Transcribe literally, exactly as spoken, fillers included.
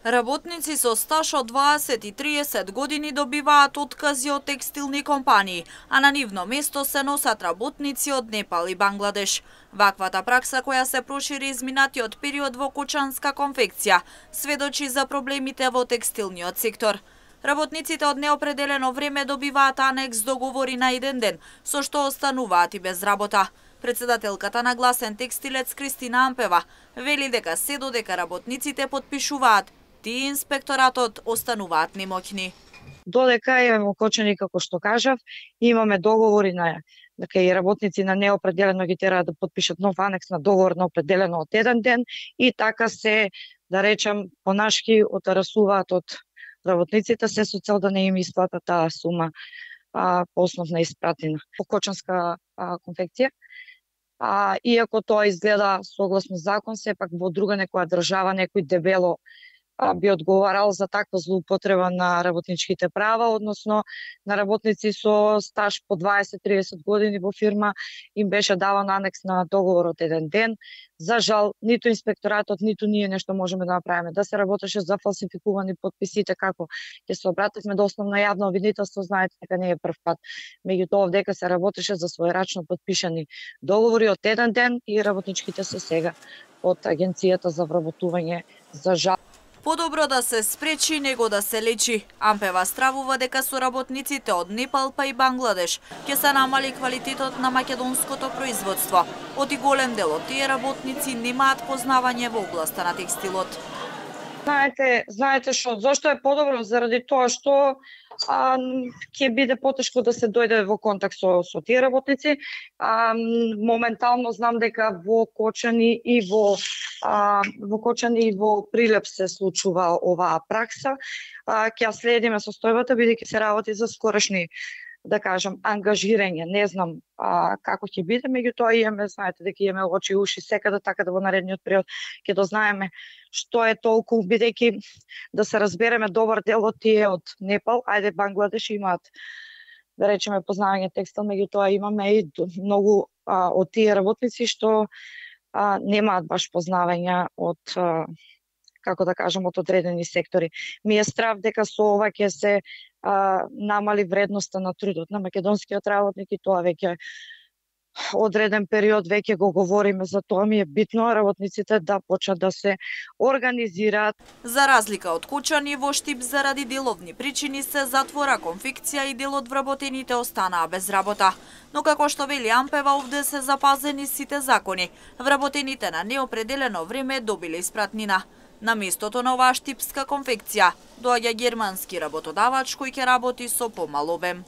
Работници со стаж од дваесет и триесет години добиваат откази од текстилни компании, а на нивно место се носат работници од Непал и Бангладеш. Ваквата пракса, која се прошири изминатиот период во кучанска конфекција, сведочи за проблемите во текстилниот сектор. Работниците од неопределено време добиваат анекс договори на еден ден, со што остануваат и без работа. Председателката на Гласен текстилец Кристина Ампева вели дека се додека работниците потпишуваат, тие инспекторатот остануваат немоќни. Додека е окочени, како што кажав, имаме договори на дека и работници на неопределено ги тераат да потпишат нов анекс на договор на определено од еден ден и така се, да речем, понашки отарасуваат од работниците се со цел да не им исплатат таа сума а, по основ на испратена по кочанска а, конфекција. А, иако тоа изгледа согласно закон, сепак во друга некоја држава некој дебело а, би одговарал за таква злоупотреба на работничките права, односно на работници со стаж по дваесет до триесет години во фирма им беше даван анекс на договор од еден ден. За жал, ниту инспекторатот, ниту ние нешто можеме да направиме. Да се работеше за фалсификувани потписите, како ќе се обративме до основно јавно обвинителство, знаете дека не е прв пат. Меѓутоа, дека се работеше за својрачно потпишани договори од еден ден и работничките се сега од Агенцијата за вработување, за жал. Подобро да се спречи него да се лечи. Ампева стравува дека со работниците од Непал па и Бангладеш ќе се намали квалитетот на македонското производство. Оти голем дел од тие работници немаат познавање во областа на текстилот. Знаете, знаете што, зошто е подобро? Заради тоа што а, ќе биде потешко да се дојде во контакт со, со тие работници. А, моментално знам дека во Кочани и во а, во Кочани и во Прилеп се случува оваа пракса. А, ќе ја следиме состојбата, бидејќи се работи за скорешни, да кажам, ангажирање. Не знам а, како ќе биде, меѓутоа имаме, знаете дека имаме очи и уши секаде, така да во наредниот период ќе дознаеме што е толку, бидејќи да се разбереме, добар дел од тие од Непал, ајде Бангладеш имаат, да речеме, познавање текстил, меѓутоа имаме и многу а, од тие работници што а, немаат баш познавање од а, како да кажам, од одредени сектори. Ми е страв дека со ова ќе се а, намали вредноста на трудот на македонскиот работник и тоа веќе одреден период веќе го говориме за тоа. Ми е битно работниците да почнат да се организираат. За разлика од Кучани, во Штип заради деловни причини се затвора конфекција и дел од вработените останаа без работа. Но како што вели Ампева, овде се запазени сите закони. Вработените на неопределено време добиле испратнина. На местото на оваа штипска конфекција доаѓа германски работодавач кој ќе работи со помал обем.